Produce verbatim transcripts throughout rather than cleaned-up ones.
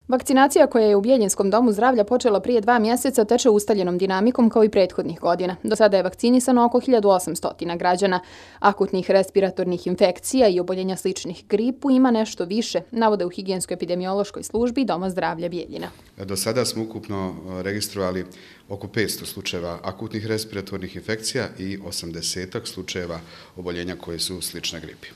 Vakcinacija koja je u Bjeljinskom domu zdravlja počela prije dva mjeseca teče ustaljenom dinamikom kao i prethodnih godina. Do sada je vakcinisano oko hiljadu osamsto građana. Akutnih respiratornih infekcija i oboljenja sličnih gripu ima nešto više, navode u higijensko-epidemiološkoj službi Doma zdravlja Bjeljina. Do sada smo ukupno registrovali oko petsto slučajeva akutnih respiratornih infekcija i osamdesetak slučajeva oboljenja koje su slične gripi.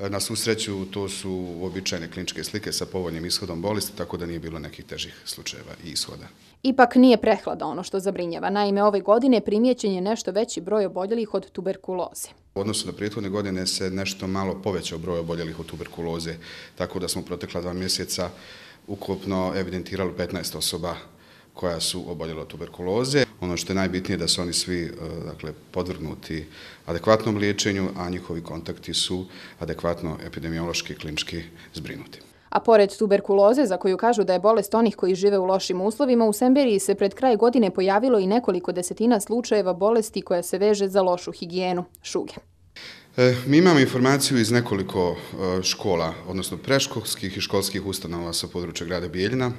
Na svu sreću, to su uobičajene kliničke slike sa povoljnim ishodom bolesti, tako da nije bilo nekih težih slučajeva i ishoda. Ipak nije prehlada ono što zabrinjava. Naime, ove godine primijećen je nešto veći broj oboljelih od tuberkuloze. U odnosu na prethodne godine se nešto malo povećao broj oboljelih od tuberkuloze, tako da smo protekla dva mjeseca ukupno evidentirali petnaest osoba koja su oboljela od tuberkuloze. Ono što je najbitnije je da su oni svi dakle, podvrgnuti adekvatnom liječenju, a njihovi kontakti su adekvatno epidemiološki i klinički zbrinuti. A pored tuberkuloze, za koju kažu da je bolest onih koji žive u lošim uslovima, u Semberiji se pred kraj godine pojavilo i nekoliko desetina slučajeva bolesti koja se veže za lošu higijenu, šuge. E, mi imamo informaciju iz nekoliko škola, odnosno predškolskih i školskih ustanova sa područja grada Bijeljina.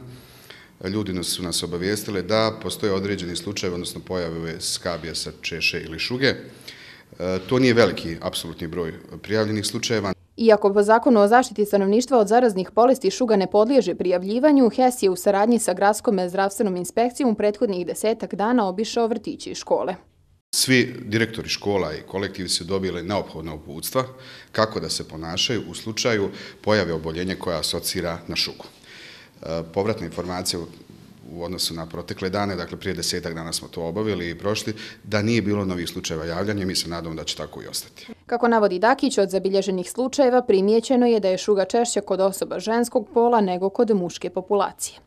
Ljudi su nas obavijestili da postoje određeni slučajevi, odnosno pojave skabijesa, češe ili šuge. To nije veliki apsolutni broj prijavljenih slučajeva. Iako po zakonu o zaštiti stanovništva od zaraznih bolesti šuga ne podliježe prijavljivanju, H E S je u saradnji sa Gradskom zdravstvenom inspekcijom u prethodnih desetak dana obišao vrtići i škole. Svi direktori škola i kolektivi su dobili neophodna uputstva kako da se ponašaju u slučaju pojave oboljenja koja asocira na šugu. Povratna informacija u odnosu na protekle dane, dakle prije desetak dana smo to obavili i prošli, da nije bilo novih slučajeva javljanja, mi se nadamo da će tako i ostati. Kako navodi Dakić, od zabilježenih slučajeva primijećeno je da je šuga češća kod osoba ženskog pola nego kod muške populacije.